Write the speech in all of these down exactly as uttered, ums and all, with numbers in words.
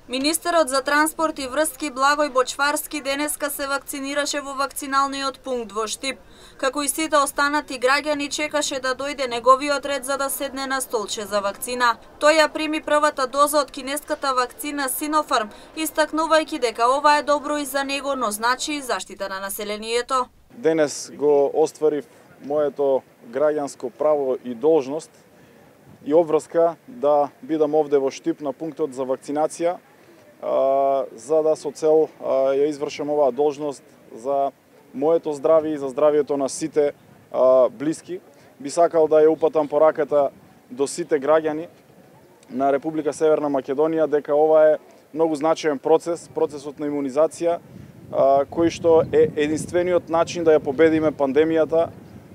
Министерот за транспорт и врски Благој Бочварски денеска се вакцинираше во вакциналниот пункт во Штип. Како и сите останати граѓани, чекаше да дојде неговиот ред за да седне на столче за вакцина. Тој ја прими првата доза од кинеската вакцина Синофарм, истакнувајќи дека ова е добро и за него, но значи и заштита на населението. Денес го остварив моето граѓанско право и должност и обврска да бидам овде во Штип на пунктот за вакцинација, за да со цел ја извршам оваа должност за моето здравје и за здравјето на сите блиски. Би сакал да ја упатам пораката до сите граѓани на Република Северна Македонија дека ова е многу значаен процес, процесот на имунизација, кој што е единствениот начин да ја победиме пандемијата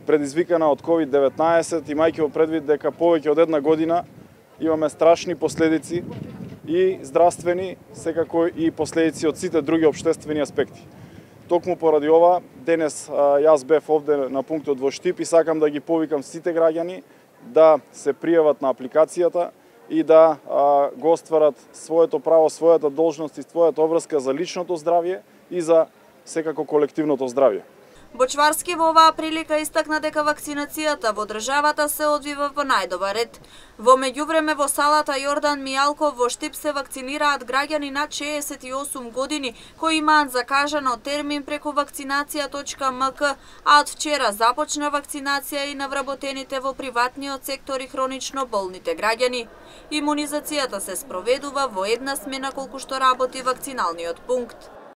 предизвикана од ковид деветнаесет, имајќи во предвид дека повеќе од една година имаме страшни последици и здравствени, секако и последици од сите други општествени аспекти. Токму поради ова, денес јас бев овде на пунктот во Штип и сакам да ги повикам сите граѓани да се пријават на апликацијата и да а, го остварат своето право, својата должност и својата обврска за личното здравје и за секако колективното здравје. Бочварски во оваа прилика истакна дека вакцинацијата во државата се одвива по најдобар ред. Во меѓувреме во салата Јордан Мијалков во Штип се вакцинираат граѓани над шеесет и осум години кои имаат закажано термин преку вакцинација точка ем ка, а од вчера започна вакцинација и на вработените во приватниот сектор и хронично болните граѓани. Имунизацијата се спроведува во една смена колку што работи вакциналниот пункт.